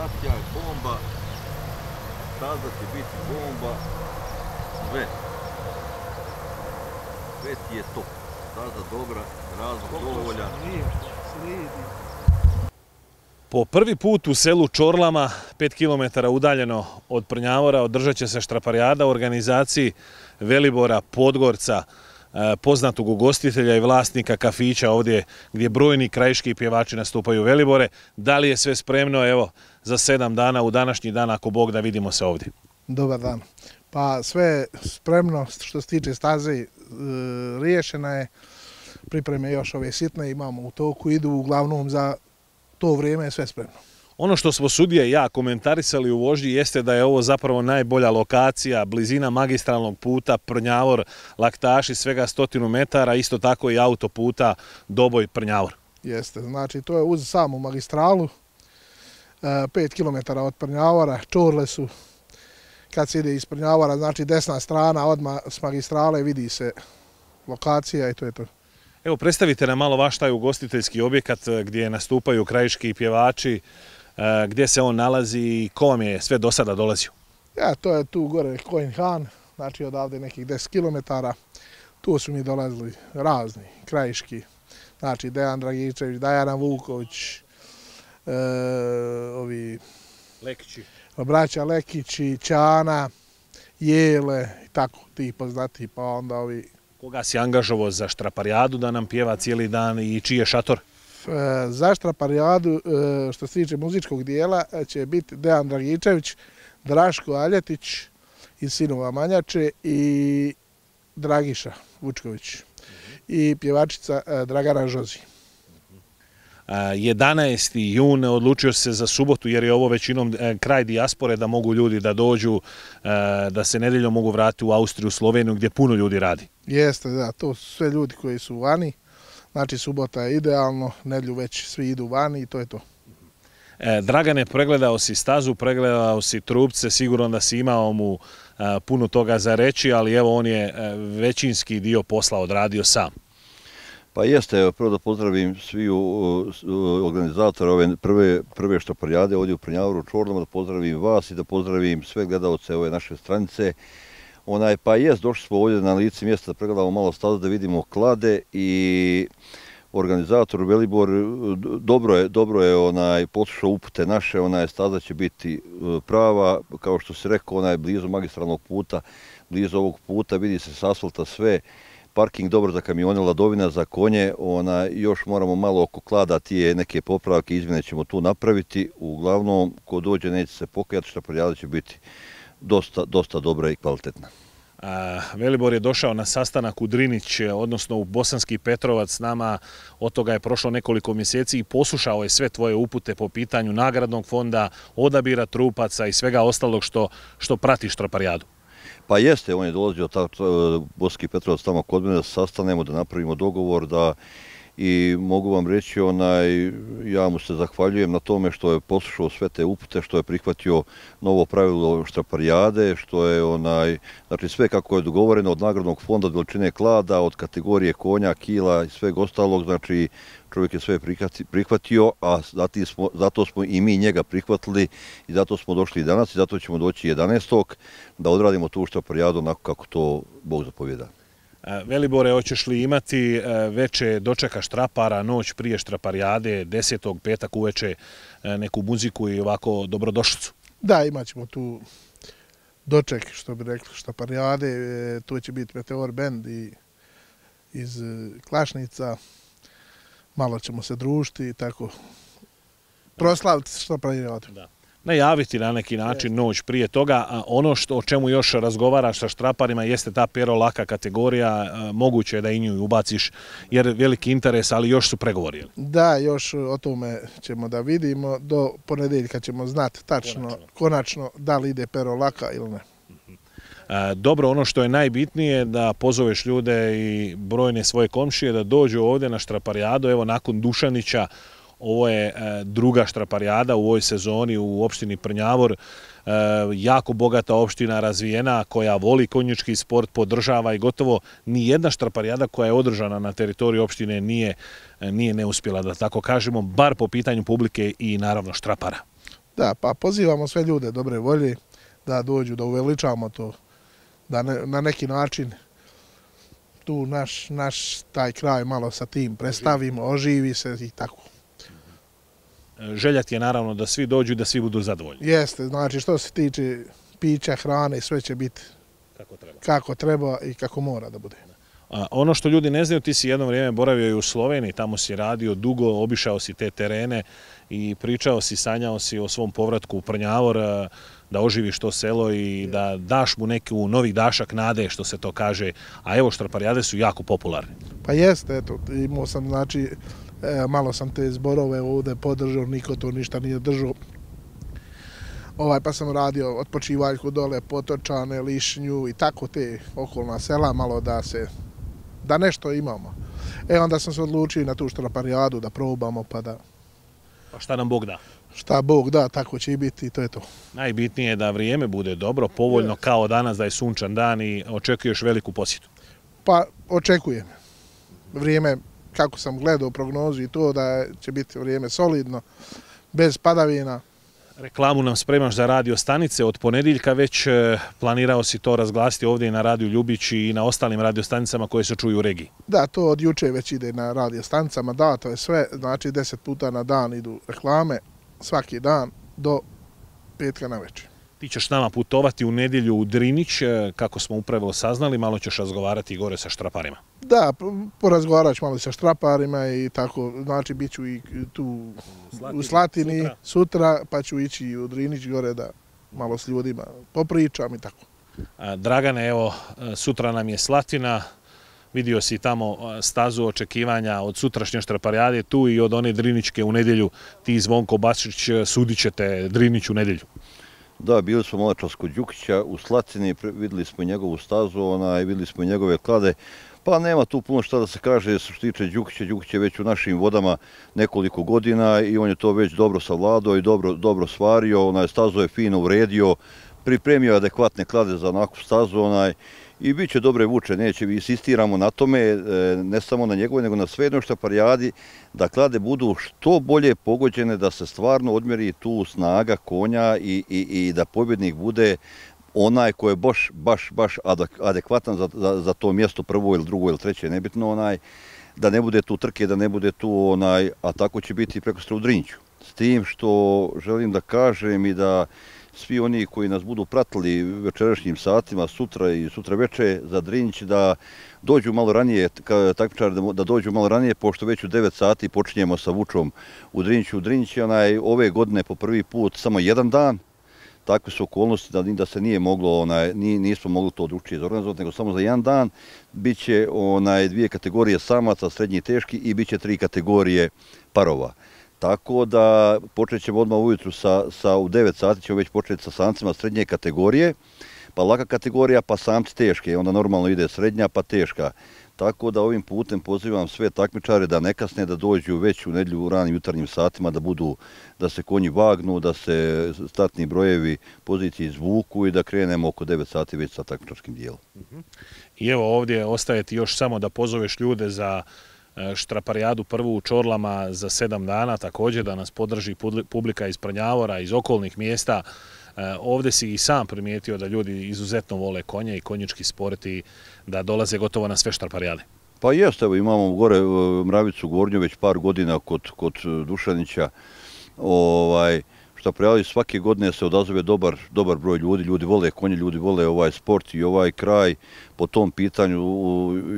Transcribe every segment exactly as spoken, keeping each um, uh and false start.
organizacija je bomba, staza će biti bomba, sve. Sve ti je top. Staza dobra, razlog dovoljan. Po prvi put u selu Čorlama, pet kilometara udaljeno od Prnjavora, održat će se štraparijada u organizaciji Velibora Podgorca, poznatog ugostitelja i vlasnika kafića ovdje gdje brojni krajiški pjevači nastupaju. Velibore, da li je sve spremno evo za sedam dana u današnji dan, ako Bog da, vidimo se ovdje? Dobar dan. Pa sve je spremno što se tiče staze, riješena je, pripreme još ove sitne imamo u toku, idu uglavnom za to vrijeme je sve spremno. Ono što smo sudije i ja komentarisali u vožnji jeste da je ovo zapravo najbolja lokacija, blizina magistralnog puta Prnjavor, Laktaši, svega stotinu metara, isto tako i autoputa Doboj-Prnjavor. Jeste, znači to je uz samu magistralu, pet kilometara od Prnjavora, Čorle su, kad se ide iz Prnjavora, znači desna strana odmah s magistrale vidi se lokacija i to je to. Evo, predstavite nam malo vaš taj ugostiteljski objekat gdje nastupaju krajiški pjevači, gdje se on nalazi i ko vam je sve do sada dolazio? Ja, to je tu gore Kojin Han, znači odavde nekih deset kilometara. Tu su mi dolazili razni krajiški, znači Dejan Dragičević, Dajana Vuković, e, ovi Lekići. braća Lekići, Ćana, Jele i tako ti poznati, pa onda ovi. Koga si angažovao za štraparijadu da nam pjeva cijeli dan i čiji je šator? Za štraparijadu, što se tiče muzičkog dijela, će biti Dejan Dragičević, Draško Aljetić iz Sinova Manjače i Dragiša Vučković i pjevačica Dragana Žozi. jedanaesti jun odlučio se za subotu jer je ovo većinom kraj dijaspore, da mogu ljudi da dođu, da se nedjeljom mogu vratiti u Austriju, Sloveniju gdje puno ljudi radi. Jeste, da, to su sve ljudi koji su vani, znači subota je idealno, nedjelju već svi idu vani i to je to. Dragane, pregledao si stazu, pregledao si trupce, sigurno da si imao mu puno toga za reći, ali evo on je većinski dio posla odradio sam. Pa jeste, prvo da pozdravim svi organizatora ove prve, prve štraparijade ovdje u Prnjavoru, Čorlama, da pozdravim vas i da pozdravim sve gledalce ove naše stranice. Onaj, pa jest, došli smo ovdje na lice mjesta da pregledamo malo stazu, da vidimo klade i organizator Velibor dobro je, dobro je onaj, poslušao upute naše, onaj, staza će biti prava, kao što se rekao, onaj, blizu magistralnog puta, blizu ovog puta, vidi se s asfalta sve. Parking dobar za kamione, ladovina za konje, ona, još moramo malo oko klada tije neke popravke, izmjene ćemo tu napraviti. Uglavnom, ko dođe neće se pokajati, štraparijada će biti dosta, dosta dobra i kvalitetna. A, Velibor je došao na sastanak u Drinić, odnosno u Bosanski Petrovac s nama, od toga je prošlo nekoliko mjeseci i poslušao je sve tvoje upute po pitanju nagradnog fonda, odabira trupaca i svega ostalog što, što prati štraparijadu. Pa jeste, on je dolazio Bosanski Petrovac tamo kod mene da se sastanemo, da napravimo dogovor, da i mogu vam reći, onaj, ja mu se zahvaljujem na tome što je poslušao sve te upute, što je prihvatio novo pravilo štraparijade, što je onaj, znači sve kako je dogovoreno od nagradnog fonda, od veličine klada, od kategorije konja, kila i sveg ostalog, znači čovjek je sve prihvatio, a smo, zato smo i mi njega prihvatili i zato smo došli i danas i zato ćemo doći jedanaestog da odradimo tu štraparijadu onako kako to Bog zapovjeda. Velibore, hoćeš li imati veče dočeka štrapara, noć prije štraparijade, desetog petak uveče neku muziku i ovako dobrodošlicu? Da, imat ćemo tu doček, što bi rekli, štraparijade, tu će biti Meteor Band i iz Klašnica, malo ćemo se družiti i tako proslaviti štraparijadu. Najaviti na neki način noć prije toga, a ono što, o čemu još razgovaraš sa štraparima jeste ta pero laka kategorija, moguće je da i nju ubaciš jer veliki interes, ali još su pregovori. Da, još o tome ćemo da vidimo, do ponedjeljka ćemo znati tačno, konačno, konačno da li ide pero laka ili ne. Dobro, ono što je najbitnije da pozoveš ljude i brojne svoje komšije da dođu ovdje na štraparijadu, evo nakon Dušanića. Ovo je druga štraparijada u ovoj sezoni u opštini Prnjavor, jako bogata opština, razvijena, koja voli konjički sport, podržava i gotovo ni jedna štraparijada koja je održana na teritoriju opštine nije, nije neuspjela, da tako kažemo, bar po pitanju publike i naravno štrapara. Da, pa pozivamo sve ljude dobre volje da dođu, da uveličamo to, da ne, na neki način tu naš, naš taj kraj malo sa tim predstavimo, oživi se i tako. Želja ti je naravno da svi dođu i da svi budu zadovoljni. Jeste, znači što se tiče pića, hrane, sve će biti kako treba, kako treba i kako mora da bude. A ono što ljudi ne znaju, ti si jedno vrijeme boravio i u Sloveniji, tamo si radio dugo, obišao si te terene i pričao si, sanjao si o svom povratku u Prnjavor, da oživiš to selo i da daš mu neku novi dašak nade, što se to kaže, a evo štraparijade su jako popularne. Pa jeste, eto, imao sam, znači, malo sam te zborove ovdje podržao, niko to ništa nije držao. Ovaj, pa sam radio otpočivaljku dole, Potočane, Lišnju i tako te okolna sela, malo da se, da nešto imamo. E onda sam se odlučio na tu štraparijadu da probamo, pa da... Pa šta nam Bog da? Šta Bog da, tako će i biti i to je to. Najbitnije je da vrijeme bude dobro, povoljno kao danas, da je sunčan dan i očekuješ veliku posjetu. Pa očekujem. Vrijeme, kako sam gledao prognozu i to, da će biti vrijeme solidno, bez padavina. Reklamu nam spremaš za radio stanice, od ponedjeljka već planirao si to razglasiti ovdje i na Radio Ljubić i na ostalim radio stanicama koje se čuju u regiji. Da, to od juče već ide na radio stanicama, da, to je sve, znači deset puta na dan idu reklame, svaki dan do petka na večer. Ti ćeš s nama putovati u nedjelju u Drinić, kako smo upravo saznali, malo ćeš razgovarati gore sa štraparima. Da, porazgovarat ću malo sa štraparima i tako, znači bit ću i tu u Slatini sutra. sutra, pa ću ići u Drinić gore da malo s ljudima popričam i tako. Dragane, evo, sutra nam je Slatina, vidio si tamo stazu očekivanja od sutrašnje štraparijade tu i od one Driničke u nedjelju. Ti, Zvonko Bačić, sudit ćete Drinić u nedjelju. Da, bili smo maločas kod Đukića u Slatini, vidjeli smo njegovu stazu, onaj, vidjeli smo njegove klade. Pa nema tu puno šta da se kaže što se tiče Đukića. Đukić je već u našim vodama nekoliko godina i on je to već dobro savladao i dobro, dobro stvario. Onaj, stazu je fino uredio, pripremio adekvatne klade za onakvu stazu. Onaj, i bit će dobre vuče, neće, insistiramo na tome, ne samo na njegove, nego na sve jedno štraparijadi, da klade budu što bolje pogođene, da se stvarno odmjeri tu snaga konja i, i, i da pobjednik bude onaj koji je baš, baš, baš adekvatan za, za, za to mjesto prvo ili drugo ili treće, nebitno onaj, da ne bude tu trke, da ne bude tu onaj, a tako će biti prekosutra u Driniću. S tim što želim da kažem i da svi oni koji nas budu pratili večerašnjim satima, sutra i sutra večer za Drinić, da dođu malo ranije, takmičari da dođu malo ranije, pošto već u devet sati počinjemo sa vučom u Driniću. U Drinić je onaj, ove godine po prvi put samo jedan dan, takve su okolnosti da, da se nije moglo, onaj, nismo mogli to drugačije zorganizovati, nego samo za jedan dan. Biće onaj, dvije kategorije samaca, srednji i teški, i biće tri kategorije parova. Tako da počet ćemo odmah ujutru sa, sa, u devet sati ćemo već početi sa samcima srednje kategorije, pa laka kategorija, pa samci teške, onda normalno ide srednja pa teška. Tako da ovim putem pozivam sve takmičare da ne kasne, da dođu već u nedjelju u ranim jutarnjim satima, da budu, da se konji vagnu, da se startni brojevi pozicije izvuku i da krenemo oko devet sati već sa takmičarskim dijelom. I evo ovdje ostaje ti još samo da pozoveš ljude za štraparijadu prvu u Čorlama za sedam dana, također da nas podrži publika iz Prnjavora, iz okolnih mjesta. Ovdje si i sam primijetio da ljudi izuzetno vole konje i konjički sport i da dolaze gotovo na sve štraparijade. Pa jeste, evo imamo gore Mravicu Gornju već par godina kod, kod Dušanića. Ovaj, štraparijadi svake godine se odazove dobar, dobar broj ljudi, ljudi vole konje, ljudi vole ovaj sport i ovaj kraj po tom pitanju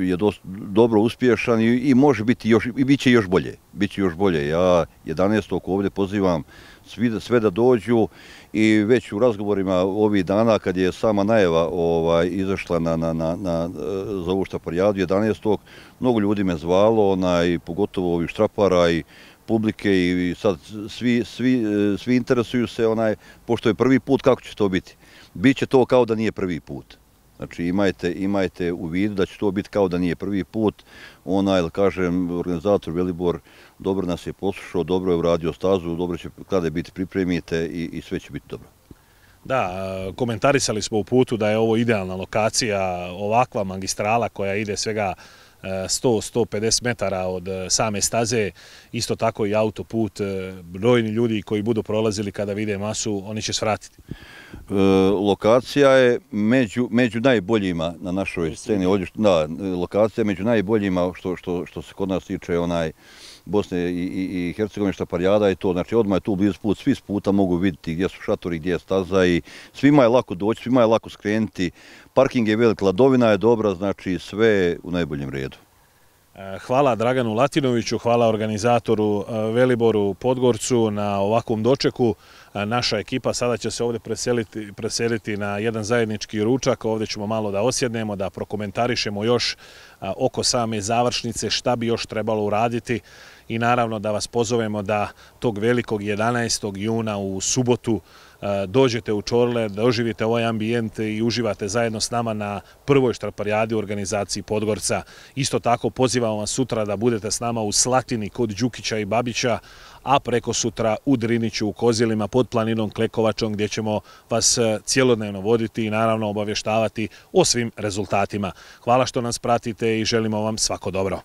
je dosta dobro uspješan i, i može biti još, i bit će još bolje. Biće još bolje. Ja jedanaestog ovdje pozivam svi, sve da dođu i već u razgovorima ovih dana kad je sama najava ovaj, izašla na, na, na, na, za ovu štraparijadu jedanaestog mnogo ljudi me zvalo, onaj, pogotovo ovih štrapara i publike i sad svi, svi, svi interesuju se, onaj, pošto je prvi put, kako će to biti. Biće to kao da nije prvi put. Znači imajte, imajte u vidu da će to biti kao da nije prvi put. Onaj, da kažem, organizator Velibor dobro nas je poslušao, dobro je uradio stazu, dobro će klade biti pripremite i, i sve će biti dobro. Da, komentarisali smo u putu da je ovo idealna lokacija, ovakva magistrala koja ide svega sto do sto pedeset metara od same staze, isto tako i autoput. Brojni ljudi koji budu prolazili kada vide masu, oni će svratiti. E, lokacija je među, među najboljima na našoj sceni. Da, lokacija je među najboljima što, što, što se kod nas tiče onaj Bosne i, i, i Hercegovine štaparijada i to. Znači odmah je tu blizu put, svi s puta mogu vidjeti gdje su šatori, gdje je staza i svima je lako doći, svima je lako skrenuti. Parking je velik, ladovina je dobra, znači sve u najboljem redu. Hvala Draganu Latinoviću, hvala organizatoru Veliboru Podgorcu na ovakvom dočeku. Naša ekipa sada će se ovdje preseliti, preseliti na jedan zajednički ručak. Ovdje ćemo malo da osjednemo, da prokomentarišemo još oko same završnice šta bi još trebalo uraditi i naravno da vas pozovemo da tog velikog jedanaestog juna u subotu dođete u Čorle, da oživite ovaj ambijent i uživate zajedno s nama na prvoj štraparijadi u organizaciji Podgorca. Isto tako pozivamo vas sutra da budete s nama u Slatini kod Đukića i Babića, a preko sutra u Driniću u Kozilima pod planinom Klekovačom gdje ćemo vas cijelodnevno voditi i naravno obavještavati o svim rezultatima. Hvala što nas pratite i želimo vam svako dobro.